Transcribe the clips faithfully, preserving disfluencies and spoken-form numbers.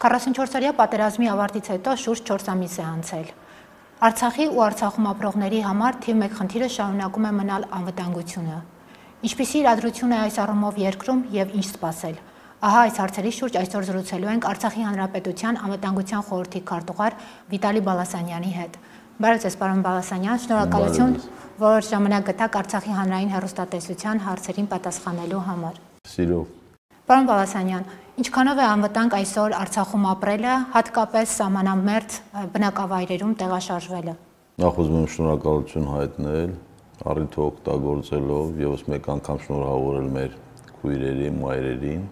քառասունչորսօրյա պատերազմի ավարտից հետո շուրջ չորս ամիս է անցել։ Արցախի ու Արցախում ապրողների համար թիվ մեկ խնդիրը շարունակում է մնալ անվտանգությունը։ Ինչպիսի իրադրություն է այս առումով երկրում եւ ինչ սպասել։ Ահա այս հարցերի շուրջ այսօր զրուցելու ենք Արցախի Հանրապետության անվտանգության խորհրդի քարտուղար Վիտալի Բալասանյանի հետ։ Բարև ձեզ, պարոն Բալասանյան, շնորհակալություն, որ ժամանակ գտաք Արցախի հանրային հեռուստատեսության հարցերին պատասխանելու համար։ Սիրով։ Պարոն Բալասանյան, ինչքանով է անվտանգ այսօր Արցախում ապրելը, հատկապես սահմանամերձ բնակավայրերում տեղաշարժվելը։ Նախ ուզում եմ շնորհակալություն հայտնել, առիթը օգտագործելով եւս մեկ անգամ շնորհավորել մեր քույրերին, մայրերին,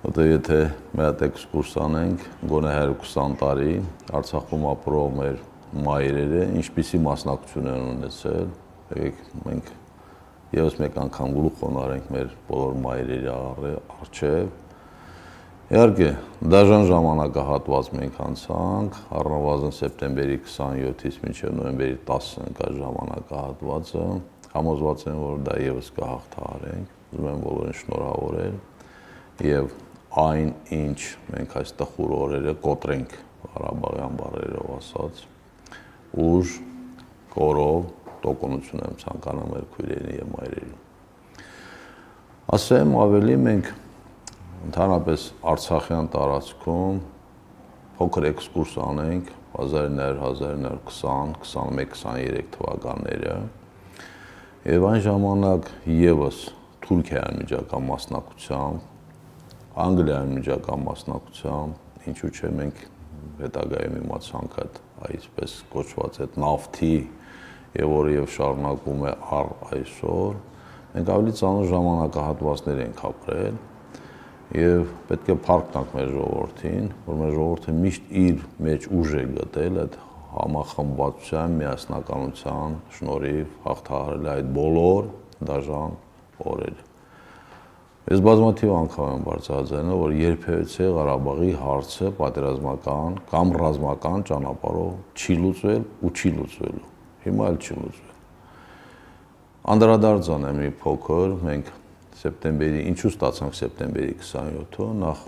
որտեղ եթե մի հատ էքսկուրս անենք, գոնե հարյուր քսան տարի Արցախում ապրող մեր մայրերը ինչպիսի մասնակցություն են ունեցել, եկեք մենք եւս մեկ անգամ գլուխ խոնարհենք մեր բոլոր մայրերի առջև։ Իհարկե, դաժան ժամանակահատված մենք անցանք, առնվազն սեպտեմբերի քսանյոթից մինչև նոյեմբերի տասը ընկած ժամանակահատվածը, համոզված եմ, որ դա եւս կհաղթահարենք, ուզում եմ բոլորին շնորհավորել եւ այն, ինչ մենք այս տխուր օրերը կոտրենք Ղարաբաղյան բառերով ասած, ուժ, կորով, տոկունություն եմ ցանկանում մեր քույրերին եւ մայրերին։ Ասեմ ավելի մենք ընդհանրապես Արցախյան տարածքում փոքր էքսկուրս անենք հազար ինը հարյուր, հազար ինը հարյուր քսան, քսանմեկ, քսաներեք թվականները եւ այն ժամանակ եւս Թուրքիայի միջակա մասնակցությամբ, Անգլիայի միջակա մասնակցությամբ, ինչու՞ չէ մենք հետագայում իմացանք այդ այսպես կոչված այդ նավթի եւ որը եւ շարունակում է առ այսօր, մենք ավելի ծանր ժամանակահատվածներ ենք ապրել եւ պետք է փառք տանք մեր ժողովրդին, որ մեր ժողովուրդը միշտ իր մեջ ուժ է գտել այդ համախմբվածության, միասնականության շնորհիվ հաղթահարել այդ բոլոր դաժան օրերը։ Ես բազմաթիվ անգամ եմ բարձրաձայնել, որ երբևէ Ղարաբաղի հարցը պատերազմական կամ ռազմական ճանապարհով չի լուծվել ու չի լուծվելու։ Հիմա էլ չի լուծվել։ Անդրադարձան է մի փոքր, մենք սեպտեմբերի, ինչու ստացանք սեպտեմբերի քսանյոթը, նախ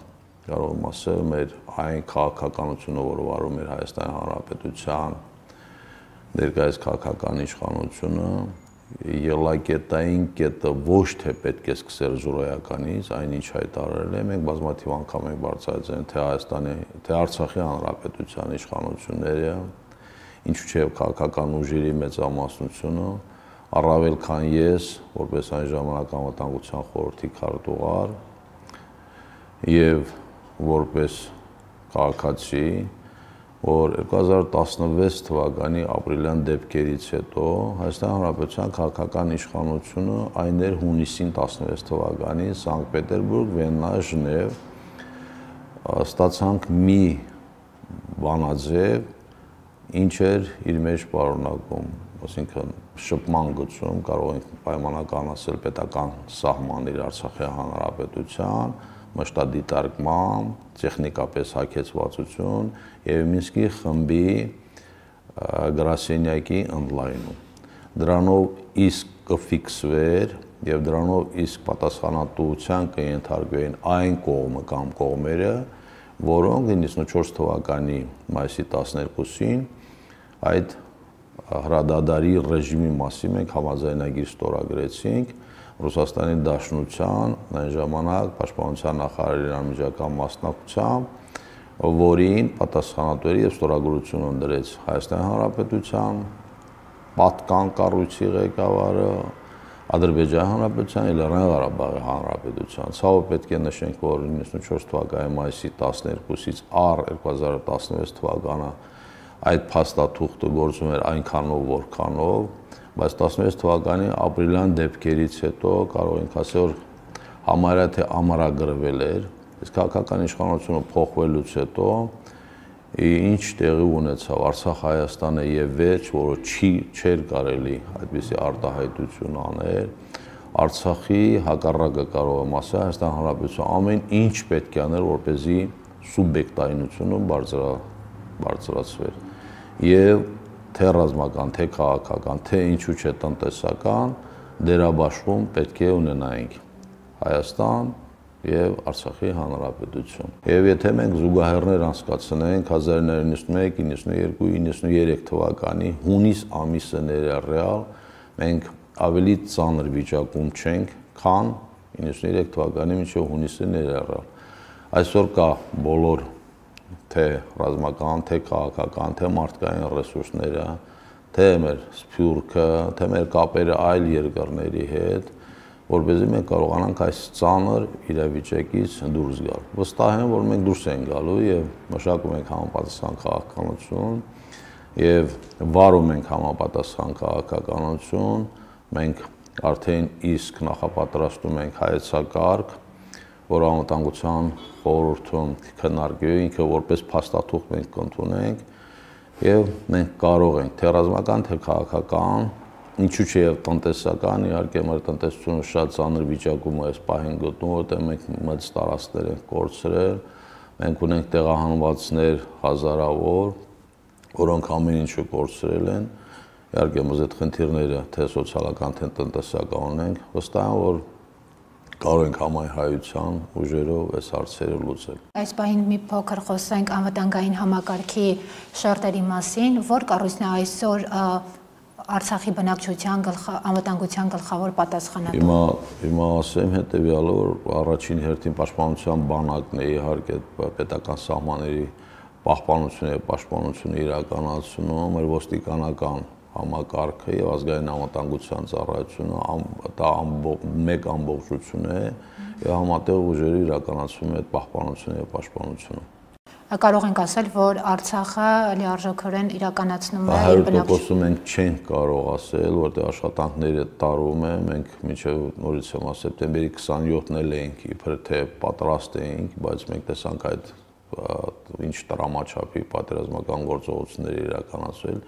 կարող եմ ասել մեր այն քաղաքականությունը, որը վարում էր Հայաստանի Հանրապետության ներկայիս քաղաքական իշխանությունը, ելակետային կետը ոչ թե պետք է սկսել զուրոյականից, այնինչ հայտարարել է, մենք բազմաթիվ անգամ ենք բարձրացրել թե Հայաստանի, թե Արցախի Հանրապետության իշխանությունները, ինչու՞ չէ քաղաքական ուժերի մեծամասնությունը, առավել քան ես, որպես այն ժամանակ անվտանգության խորհրդի քարտուղար եւ որպես քաղաքացի, որ երկու հազար տասնվեց թվականի ապրիլյան դեպքերից հետո Հայաստանի Հանրապետության քաղաքական իշխանությունը այն էր հունիսին տասնվեց թվականի Սանկտ Պետերբուրգ, Վիեննա, Ժնև ստացանք մի բանաձև, ինչ էր իր մեջ պարունակում, այսինքն շփման գծում կարող ենք պայմանական ասել պետական սահմաններ Արցախի Հանրապետության, մշտադիտարկման, տեխնիկապես հագեցվածություն եւ Մինսկի խմբի գրասենյակի ընդլայնում։ Դրանով իսկ կֆիքսվեր եւ դրանով իսկ պատասխանատվության կենթարկվեին այն կողմը կամ կողմերը, որոնք իննսունչորս թվականի մայիսի տասներկուսին այդ հրադադարի ռեժիմի մասին մենք համաձայնագիր ստորագրեցինք Ռուսաստանի Դաշնության այն ժամանակ պաշտպանության նախարարի անմիջական մասնակցությամբ, որին պատասխանատու էր եւ ստորագրություն ընդրեց Հայաստանի Հանրապետության պատկան կառույցի ղեկավարը, Ադրբեջանի Հանրապետության եւ Լեռնային Ղարաբաղի Հանրապետության։ Ցավոք պետք է նշենք, որ իննսունչորս թվականի մայիսի տասներկուսից առ երկու հազար տասնվեց թվականը այդ փաստաթուղթը գործում էր այնքանով, որքանով, բայց տասնվեց թվականի ապրիլյան դեպքերից հետո կարող ենք ասել, որ համարյա թե ամրագրվել էր, իսկ քաղաքական իշխանությունը փոխվելուց հետո ինչ տեղի ունեցավ Արցախ-Հայաստանը եւ վերջ, որը չի չէր կարելի այդպիսի արտահայտություն անել, Արցախի հակառակը կարող եմ ասել, Հայաստանի Հանրապետության ամեն ինչ պետք է անել, որպեսզի սուբյեկտայնությունը բարձրացվեր եւ թե ռազմական, թե քաղաքական, թե ինչու՞ չէ տնտեսական դերաբաշխում պետք է ունենայինք Հայաստան, եւ Արցախի հանրապետություն։ Եվ եթե մենք զուգահեռներ անցկացնենք հազար իննսուն նվեցանասունմեկ, իննսունյոթ, իննսունյոթ թվականի հունիս ամիսը ներառյալ, մենք ավելի ծանր վիճակում չենք, քան իննսունյոթ թվականի մինչև հունիսը ներառյալ։ Այսօր կա բոլոր թե ռազմական, թե քաղաքական, թե մարդկային ռեսուրսները, թե մեր սփյուռքը, թե մեր կապերը այլ երկրների հետ, որպեսզի մենք կարողանանք այս ծանր իրավիճակից դուրս գալ։ Վստահ եմ, որ մենք դուրս ենք գալու եւ մշակում ենք համապատասխան քաղաքականություն եւ վարում ենք համապատասխան քաղաքականություն, մենք արդեն իսկ նախապատրաստում ենք հայեցակարգ, որ անվտանգության խորհրդում քննարկվի, ինքը որպես փաստաթուղթ մենք կընդունենք եւ մենք կարող ենք թե ռազմական, թե քաղաքական, ինչու՞ չէ եւ տնտեսական, իհարկե մեր տնտեսությունը շատ ծանր վիճակում է այս պահին գտնվում, որտեղ մենք մեծ տարածքներ ենք կորցրել, մենք ունենք տեղահանվածներ հազարավոր, որոնք ամեն ինչը կորցրել են, իհարկե մեզ այդ խնդիրները թե սոցիալական, թե տնտեսական ունենք, վստահ եմ, որ կարող ենք համայնայության ուժերով այս հարցերը լուծել։ Այս պահին մի փոքր խոսենք անվտանգային համակարգի շերտերի մասին, որ կառույցն է այսօր Արցախի բնակչության անվտանգության գլխավոր պատասխանատու։ Հիմա հիմա ասեմ հետեւյալը, որ առաջին հերթին պաշտպանության բանակն է իհարկե պետական սահմանների պահպանությունը եւ պաշտպանությունը իրականացնում, մեր ոստիկանական համակարգը եւ ազգային անվտանգության ծառայությունը դա մեկ ամբողջություն է եւ համատեղ ուժերը իրականացում է այդ պահպանությունը եւ պաշտպանությունը։ Կարող ենք ասել, որ Արցախը լիարժեքորեն իրականացնում է իր բնակչություն։ Մենք չենք կարող ասել, որտեղ աշխատանքները տարվում են, մենք մինչեւ նորից եմ ասել, սեպտեմբերի քսանյոթն էլ էինք իբր թե պատրաստ էինք, բայց մենք տեսանք այդ ինչ տրամաչափի պատերազմական գործողություններ իրականացվել,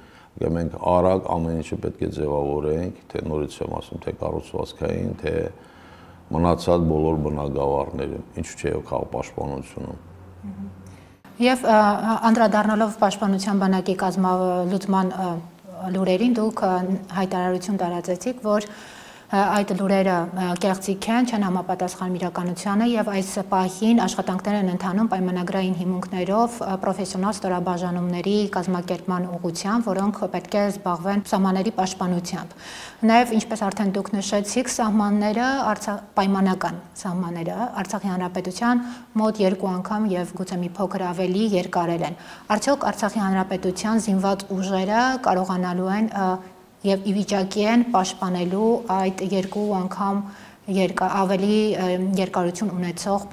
եւ մենք արագ ամեն ինչը պետք է ձևավորենք, թե նորից եմ ասում, թե կառուցվածքային, թե մնացած բոլոր բնակավարները, ինչու՞ չէ քաղաքապաշտպանությունը։ Եվ անդրադառնալով պաշտպանության բանակի կազմալուծման լուրերին, դուք հայտարարություն տարածեցիք, որ այդ լուրերը կեղծիք են, չեն համապատասխանում իրականությանը եւ այս պահին աշխատանքներ են ընթանում պայմանագրային հիմունքներով պրոֆեսիոնալ ստորաբաժանումների կազմակերպման ուղղությամբ, որոնք պետք է զբաղվեն սահմանների պաշտպանությամբ։ Նաեւ ինչպես արդեն դուք նշեցիք, սահմանները, պայմանական սահմանները Արցախի հանրապետության մոտ երկու անգամ եւ գուցե մի փոքր ավելի երկարել են։ Արդյոք Արցախի հանրապետության զինված ուժերը կարողանալու են եւ ի վիճակի են պաշտպանելու այդ երկու անգամ երկա ավելի երկարություն ունեցող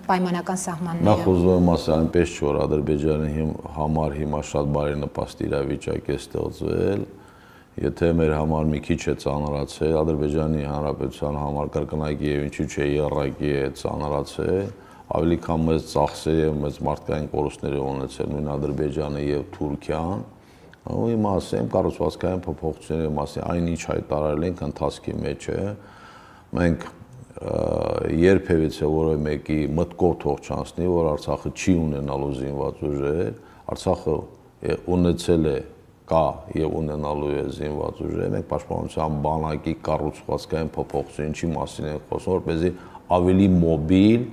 պայմանական սահմանները։ Նախ ուզում եմ ասել, այնպես չէ, որ Ադրբեջանի համար հիմա շատ բարենպաստ իրավիճակ է ստեղծվել, եթե մեր համար մի քիչ է ծանրացել, Ադրբեջանի հանրապետության համար կրկնակի եւ ինչու՞ չէ եռակի է ծանրացել, ավելի քան մեծ ծախսեր եւ մեծ մարդկային կորուստներ ունեցել նույն Ադրբեջանը եւ Թուրքիան։ Ու հիմա ասեմ կառուցվածքային փոփոխությունների մասին, այնինչ հայտարարել ենք ընթացքի մեջ է, մենք երբևիցե որևէ մեկի մտքով թող չանցնի, որ Արցախը չի ունենալու զինված ուժեր, Արցախը ունեցել է, կա եւ ունենալու է զինված ուժեր, մենք պաշտպանության բանակի կառուցվածքային փոփոխություն ինչի մասին ենք խոսում, որպեսզի ավելի մոբիլ,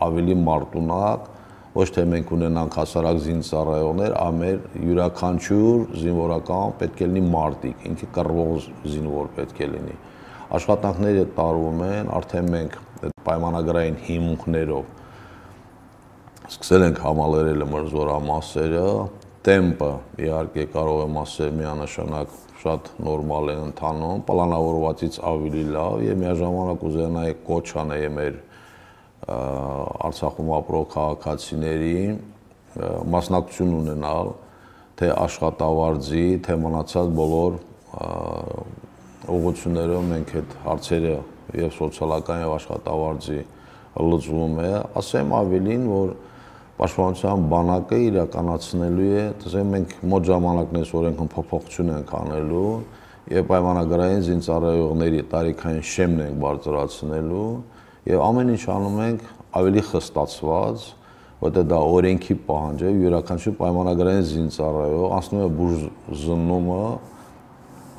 ավելի մարտունակ, ոչ թե մենք ունենանք հասարակ զինծառայողներ, այլ յուրաքանչյուր զինվորական պետք է լինի մարտիկ, ինքը կռվող զինվոր պետք է լինի։ Աշխատանքները տարվում են, արդեն մենք այդ պայմանագրային հիմունքներով սկսել ենք համալրել մեր զորամասերը, տեմպը իհարկե կարող եմ ասել միանշանակ շատ նորմալ է ընթանում, պլանավորվածից ավելի լավ եւ միաժամանակ ուզենայի կոչ անել մեր Արցախում ապրող քաղաքացիների մասնակցություն ունենալ թե աշխատավարձի, թե մնացած բոլոր ուղղություններով մենք այդ հարցերը եւ սոցիալական եւ աշխատավարձի լուծվում է, ասեմ ավելին, որ պաշտպանության բանակը իրականացնելու է, տեսեք մենք մոտ ժամանակներս օրենքն փոփոխություն ենք անելու եւ պայմանագրային զինծառայողների տարիքային շեմն ենք բարձրացնելու եւ ամեն ինչ անում ենք ավելի խստացված, որտեղ դա օրենքի պահանջ է, յուրաքանչյուր պայմանագրային զինծառայող անցնում է բուժզննումը,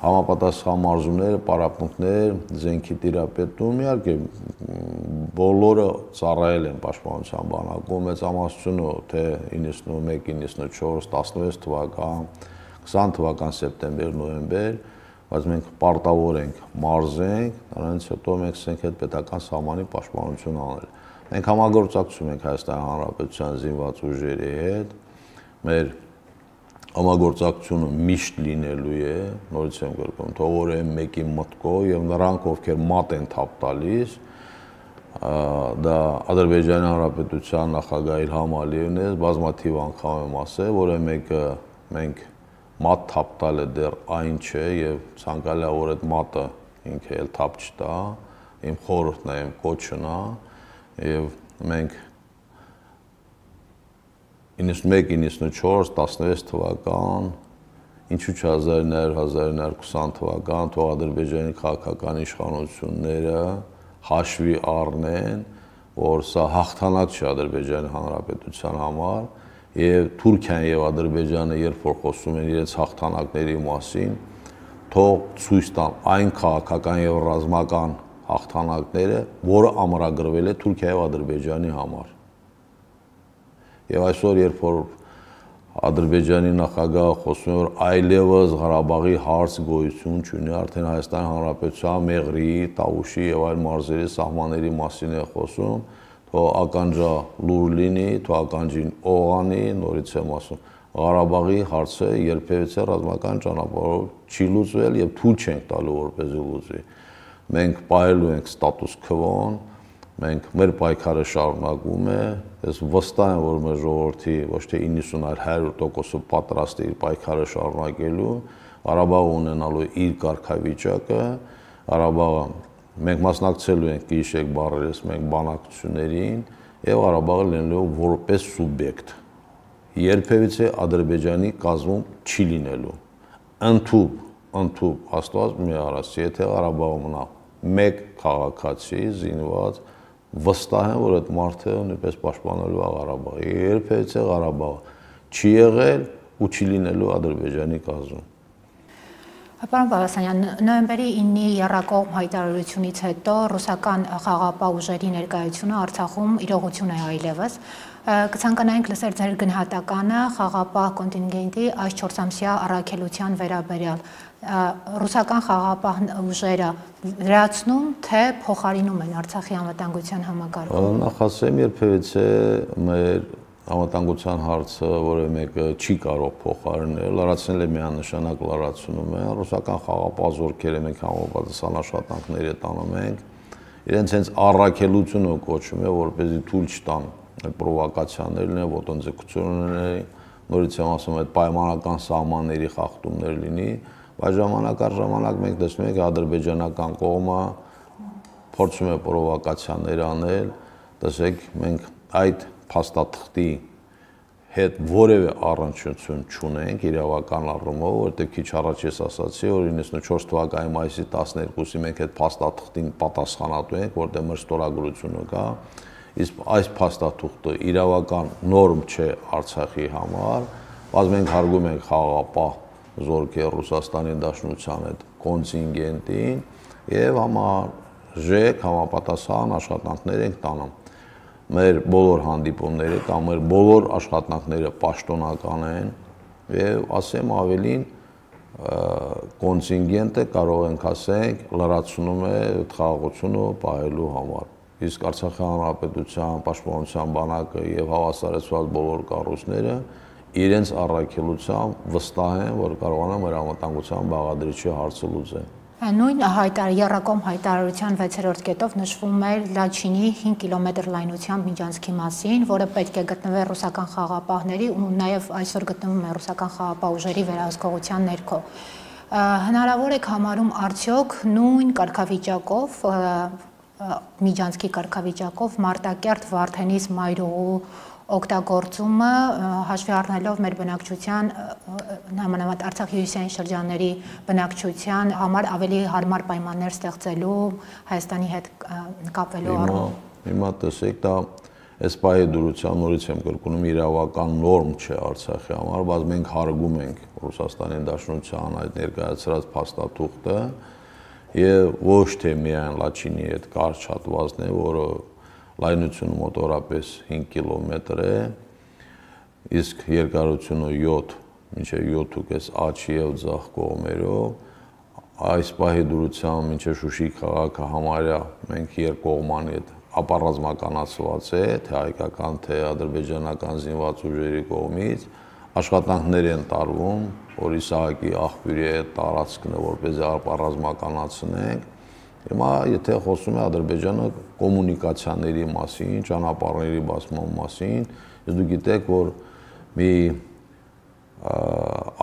համապատասխան մարզումներ, պարապմունքներ, զենքի տիրապետում, իհարկե բոլորը ծառայել են պաշտպանության բանակում, մեծամասնությունը թե իննսունմեկ, իննսունչորս, տասնվեց թվական, քսան թվական սեպտեմբեր, նոյեմբեր, բայց մենք պարտավոր ենք մարզենք, դրանից հետո մենք ցենք այդ պետական սահմանի պաշտպանություն անել։ Մենք համագործակցում ենք Հայաստանի Հանրապետության զինված ուժերի հետ, մեր համագործակցությունը միշտ լինելու է, նորից եմ գրկում, թող որ այն մեկի մտքով եւ նրանք, ովքեր մատ են թափ տալիս, դա Ադրբեջանի Հանրապետության նախագահ Իլհամ Ալիևն է, բազմաթիվ անգամ եմ ասել, որ այն մեկը մենք մատ թափ տալը դեռ այն չէ եւ ցանկալի է որ այդ մատը ինքը էլ թափ չտա, իմ խորհուրդն է, իմ կոչն է եւ մենք իննսունմեկ, իննսունչորս, տասնվեց թվական, ինչու՞ հազար ինը հարյուր հազար ինը հարյուր քսան թվական, թող Ադրբեջանի քաղաքական իշխանությունները հաշվի առնեն, որ սա հաղթանակ չէ Ադրբեջանի Հանրապետության համար, եւ Թուրքիան եւ Ադրբեջանը երբ որ խոսում են իրենց հաղթանակների մասին, թող ցույց տան այն քաղաքական եւ ռազմական հաղթանակները, որը ամրագրվել է Թուրքիայի եւ Ադրբեջանի համար։ Եվ այսօր երբ որ Ադրբեջանի նախագահը խոսում է, որ այլևս Ղարաբաղի հարց գոյություն չունի, արդեն Հայաստանի Հանրապետության Մեղրի, Տավուշի եւ այլ մարզերի սահմանների մասին է խոսում, թող ականջա լուր լինի, թող ականջին օղանի, նորից եմ ասում, Ղարաբաղի հարցը երբևիցե ռազմական ճանապարհով չի լուծվել եւ թույլ չենք տալու որպեսզի լուծվի։ Մենք պահելու ենք ստատուս քվոն, մենք մեր պայքարը շարունակվում է, ես վստահ եմ, որ մեր ժողովրդի ոչ թե իննսուն, այլ հարյուր տոկոսը պատրաստ է իր պայքարը շարունակելու, Ղարաբաղը ունենալու իր կարգավիճակը, Ղարաբաղը մենք մասնակցելու ենք գիշեք բարերես մենք բանակցություններին եւ Ղարաբաղը լինելու որպես սուբյեկտ։ Երբևիցե Ադրբեջանի կազմում չի լինելու։ Ընդհուպ, ընդհուպ Աստված մի արած, եթե Ղարաբաղը մնա մեկ քաղաքացի զինված, վստահ եմ, որ այդ մարդը նույնպես պաշտպանելու է Ղարաբաղը։ Երբևիցե Ղարաբաղը չի եղել ու չի լինելու Ադրբեջանի կազմում։ Պարոն Բալասանյան, նոյեմբերի ինի եռակողմ հայտարարությունից հետո ռուսական խաղաղապահ ուժերի ներկայությունը Արցախում իրողություն է այլևս։ Կցանկանայինք լսել ձեր գնահատականը խաղաղապահ կոնտինգենտի այս չորսամսյա առաքելության վերաբերյալ։ Ռուսական խաղաղապահ ուժերը լրացնում, թե փոխարինում են Արցախի անվտանգության համակարգը։ Նախ ասեմ, երբևիցե մեր անվտանգության հարցը որևէ մեկը չի կարող փոխարինել, լրացնել է միանշանակ լրացնում է, ռուսական խաղաղապահ զորքերը մենք համապատասխան աշխատանքներ տանում ենք, իրենց հենց առաքելությունը կոչում է, որպեսզի թույլ չտան այդ պրովոկացիաներն են, ոտնձգությունները, նորից եմ ասում, այդ պայմանական սահմանների խախտումներ լինի, բայց ժամանակ առ ժամանակ մենք տեսնում ենք ադրբեջանական կողմը փորձում է պրովոկացիաներ անել, տեսեք, մենք այդ փաստաթղթի հետ որևէ առնչություն չունենք իրավական առումով, որտեղ քիչ առաջ ես ասացի, որ իննսունչորս թվականի մայիսի տասներկուսի մենք այդ փաստաթղթին պատասխանատու ենք, որտեղ մեր ստորագրությունը կա, իսկ այս փաստաթուղթը իրավական նորմ չէ Արցախի համար, բայց մենք հարգում ենք խաղաղապահ զորքեր Ռուսաստանի Դաշնության այդ կոնտինգենտին եւ համարժեք համապատասխան աշխատանքներ ենք տանում։ Մեր բոլոր հանդիպումները կամ մեր բոլոր աշխատանքները պաշտոնական են եւ ասեմ ավելին կոնտինգենտը կարող ենք ասենք լրացնում է խաղաղությունը պահելու համար։ Իսկ Արցախի Հանրապետության պաշտպանության բանակը եւ հավասարեցված բոլոր կառույցները իրենց առաքելությամբ վստահ են, որ կարողանան մեր անվտանգության բաղադրիչի հարցը լուծել։ Նույն եռակողմ հայտարարության վեցերորդ կետով նշվում էր Լաչինի հինգ կիլոմետր լայնությամբ միջանցքի մասին, որը պետք է գտնվեր ռուսական խաղաղապահների ու նաև այսօր գտնվում է ռուսական խաղաղապահ ուժերի վերահսկողության ներքո։ Հնարավոր է համարում արդյոք նույն կարգավիճակով միջանցքի կարգավիճակով Մարտակերտ, Վարդենիս, Մայրուղու օգտագործումը հաշվի առնելով մեր բնակչության համանավատ Արցախի հյուսիսային շրջանների բնակչության համար ավելի հարմար պայմաններ ստեղծելու Հայաստանի հետ կապվելու առումով։ Հիմա տեսեք, դա այս պահի դրության նորից եմ կրկնում իրավական նորմ չէ Արցախի համար, բայց մենք հարգում ենք Ռուսաստանի Դաշնության այդ ներկայացրած փաստաթուղթը եւ ոչ թե միայն Լաչինի այդ կարճ հատվածն է, որը լայնությունը մոտորապես հինգ կիլոմետր է, իսկ երկարությունը յոթ մինչև յոթ ու կես աջ եւ ձախ կողմերով, այս պահի դրությամբ մինչև Շուշի քաղաքը համարյա մենք երկկողմանի հետ ապառազմականացված է, թե հայկական, թե ադրբեջանական զինված ուժերի կողմից, աշխատանքներ են տարվում, որ Իսահակի աղբյուրի այդ տարածքն է, որպեսզի ապառազմականացնենք։ Հիմա եթե խոսում է Ադրբեջանը կոմունիկացիաների մասին, ճանապարհների բացման մասին, իսկ դուք գիտեք, որ մի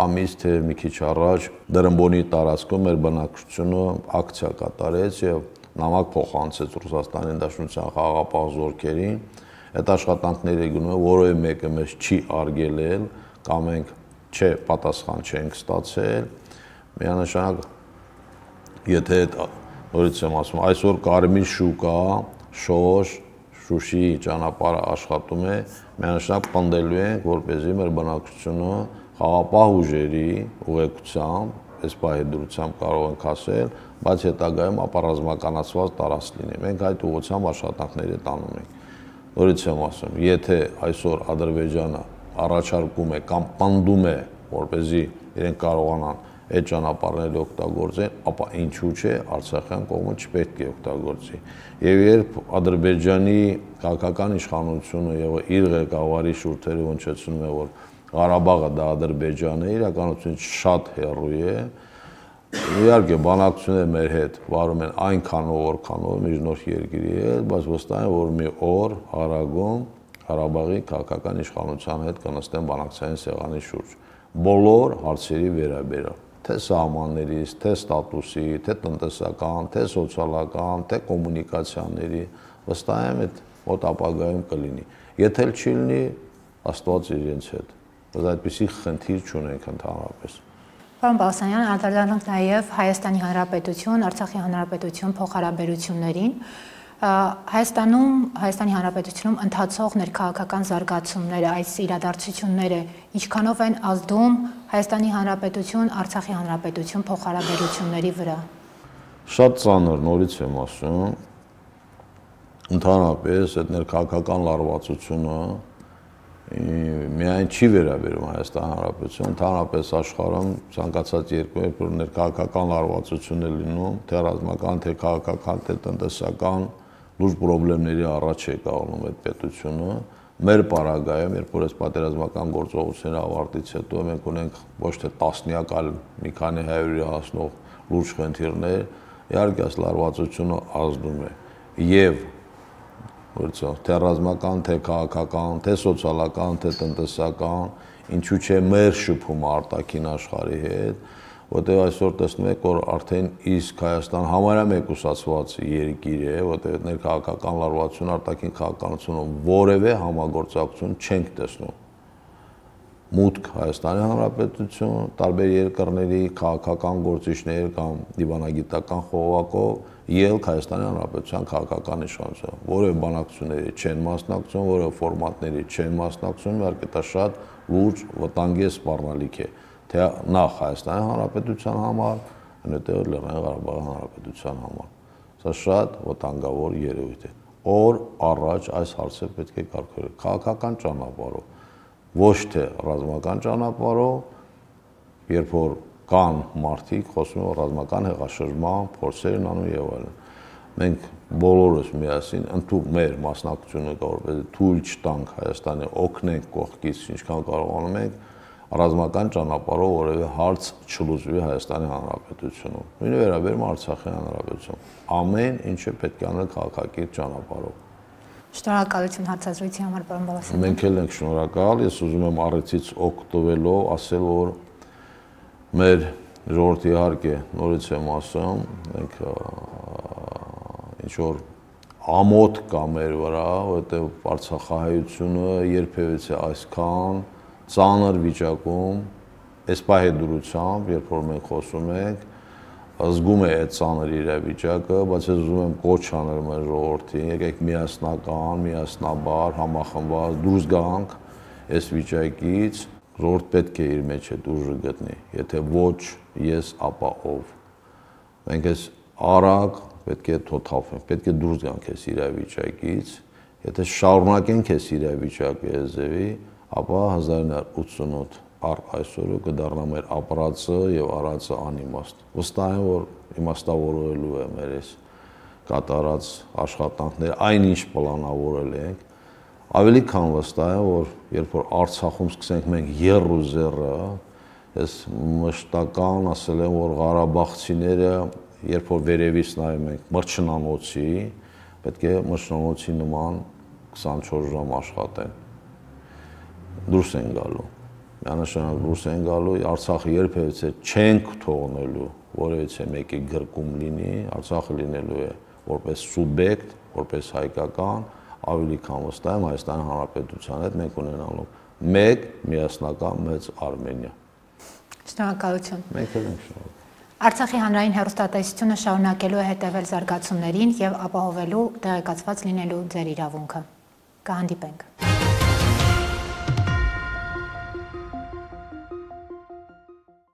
ամիս թե մի քիչ առաջ Դրամբոնի տարածքում մեր բնակչությունը ակցիա կատարեց եւ նամակ փոխանցեց Ռուսաստանի Դաշնության խաղաղապահ զորքերին, այդ աշխատանքները գնում է, որևէ մեկը մեզ չի արգելել կամ մենք չէ պատասխան չենք ստացել, միանշանակ եթե նորից եմ ասում, այսօր Կարմիր շուկա, Շոշ, Շուշի ճանապարհը աշխատում է, միանշանակ պնդելու ենք, որպեսզի մեր բնակչությունը խաղաղապահ ուժերի ուղեկցությամբ, այս պահի դրությամբ կարող ենք ասել, բայց հետագայում ապառազմականացված տարածք լինի։ Մենք այդ ուղղությամբ աշխատանքները տանում ենք։ Նորից եմ ասում, եթե այսօր Ադրբեջանը առաջարկում է կամ պնդում է, որպեսզի իրենք կարողանան այդ ճանապարհները օգտագործեն, ապա ինչու՞ չէ Արցախյան կողմը չպետք է օգտագործի։ Եվ երբ Ադրբեջանի քաղաքական իշխանությունը եւ իր ղեկավարի շուրթերը հնչեցնում է, որ Ղարաբաղը դա Ադրբեջանն է, իրականությունից շատ հեռու է։ Իհարկե բանակցությունները մեր հետ վարում են այնքանով, որքանով միջնորդ երկրի հետ, բայց վստահ եմ, որ մի օր Արագում Ղարաբաղի քաղաքական իշխանության հետ կնստեն բանակցային սեղանի շուրջ բոլոր հարցերի վերաբերյալ, թե սահմաններից, թե ստատուսի, թե տնտեսական, թե սոցիալական, թե կոմունիկացիաների, վստահ եմ այդ մոտ ապագայում կլինի։ Եթե չի լինի, Աստված իրենց հետ, բայց այդպիսի խնդիր չունենք ընդհանրապես։ Պարոն Բաղդասարյան, անդրադառնանք նաև Հայաստանի Հանրապետություն, Արցախի Հանրապետություն փոխհարաբերություններին։ Հայաստանում, Հայաստանի Հանրապետությունում ընթացող ներքաղաքական զարգացումները, այս իրադարձությունները ինչքանով են ազդում Հայաստանի Հանրապետություն, Արցախի Հանրապետություն փոխհարաբերությունների վրա։ Շատ ծանր, նորից եմ ասում, ընդհանրապես այդ ներքաղաքական լարվածությունը միայն չի վերաբերում Հայաստանի Հանրապետություն, ընդհանրապես աշխարհում ցանկացած երկու երկրորդ ներքաղաքական լարվածություն է լինում, թե ռազմական, թե քաղաքական, թե տնտեսական լուրջ խնդիրների առաջ է կանգնում այդ պետությունը։ Մեր պարագայում, երբ որ այս պատերազմական գործողությունների ավարտից հետո մենք ունենք ոչ թե տասնյակ, այլ մի քանի հարյուրի հասնող լուրջ խնդիրներ, իհարկե այս լարվածությունը ազդում է եւ թե ռազմական, թե քաղաքական, թե սոցիալական, թե տնտեսական, ինչու՞ չէ մեր շփումը արտաքին աշխարհի հետ, որտեղ այսօր տեսնում եք, որ արդեն իսկ Հայաստան համարյա մեկուսացված երկիր է, որտեղ ներքաղաքական լարվածություն արտաքին քաղաքականությունը որևէ համագործակցություն չենք տեսնում։ Մուտք Հայաստանի Հանրապետություն, տարբեր երկրների քաղաքական գործիչներ կամ դիվանագիտական խողովակով ելք Հայաստանի Հանրապետության քաղաքական իշխանության, որևէ բանակցությունների չեն մասնակցում, որևէ ֆորմատների չեն մասնակցում, իհարկե դա շատ լուրջ վտանգի սպառնալիք է, թե նախ Հայաստանի Հանրապետության համար, այնուհետև Լեռնային Ղարաբաղի Հանրապետության համար։ Սա շատ վտանգավոր երևույթ է։ Օր առաջ այս հարցը պետք է կարգավորել քաղաքական ճանապարհով, ոչ թե ռազմական ճանապարհով, երբ որ կան մարդիկ, խոսում են ռազմական հեղաշրջման փորձեր են անում եւ այլն։ Մենք բոլորս միասին ընդհանուր մեր մասնակցությունը կարողանանք թույլ չտանք Հայաստանի օգնենք կողքից, ինչքան կարողանում ենք, ռազմական ճանապարհով որևէ հարց չլուծվի Հայաստանի Հանրապետությունում։ Նույնը վերաբերում Արցախի Հանրապետություն։ Ամեն ինչը պետք է անել քաղաքակիրթ ճանապարհով։ Շնորհակալություն հարցազրույցի համար, պարոն Բաղդասարյան։ Մենք էլ ենք շնորհակալ, ես ուզում եմ առիթից օգտվելով ասել, որ մեր ժողովրդի իհարկե նորից եմ ասում, մենք ինչ որ ամոթ կա մեր վրա, որովհետև Արցախահայությունը երբևիցե այսքան ծանր վիճակում, այս պահի դրությամբ, երբ որ մենք խոսում ենք, զգում է այդ ծանր իրավիճակը, բայց ես ուզում եմ կոչ անել մեր ժողովրդին, եկեք միասնական, միասնաբար, համախմբված դուրս գանք այս վիճակից, ժողովուրդ պետք է իր մեջ այդ ուժը գտնի, եթե ոչ ես, ապա ով։ Մենք այս արագ պետք է թոթափենք, պետք է դուրս գանք այս իրավիճակից Եթե շարունակենք այս իրավիճակը եզևի, ապա հազար իննսուն ութսունութ առ այսօրը կդառնա մեր ապրածը եւ արածը անիմաստ։ Վստահ եմ, որ իմաստավորելու է մեր այս կատարած աշխատանքները, այնինչ պլանավորել ենք, ավելի քան վստահ եմ, որ երբ որ Արցախում սկսենք մենք եռ ու զեռը, ես մշտական ասել եմ, որ Ղարաբաղցիները, երբ որ վերևից նայում ենք մրջնանոցի, պետք է մրջնանոցի նման քսանչորս ժամ աշխատեն։ Դուրս են գալու։ Միանշանակ դուրս են գալու, Արցախը երբևիցե չենք թողնելու, որևիցե մեկի գրկում լինի, Արցախը լինելու է որպես սուբյեկտ, որպես հայկական, ավելի քան վստահ եմ Հայաստանի Հանրապետության հետ մենք ունենալու մեկ միասնական մեծ Արմենիա։ Շնորհակալություն։ Մենք էլ ենք շնորհակալ։ Արցախի հանրային հեռուստատեսությունը շարունակելու է հետևել զարգացումներին եւ ապահովելու տեղեկացված լինելու ձեր իրավունքը։ Կհանդիպենք։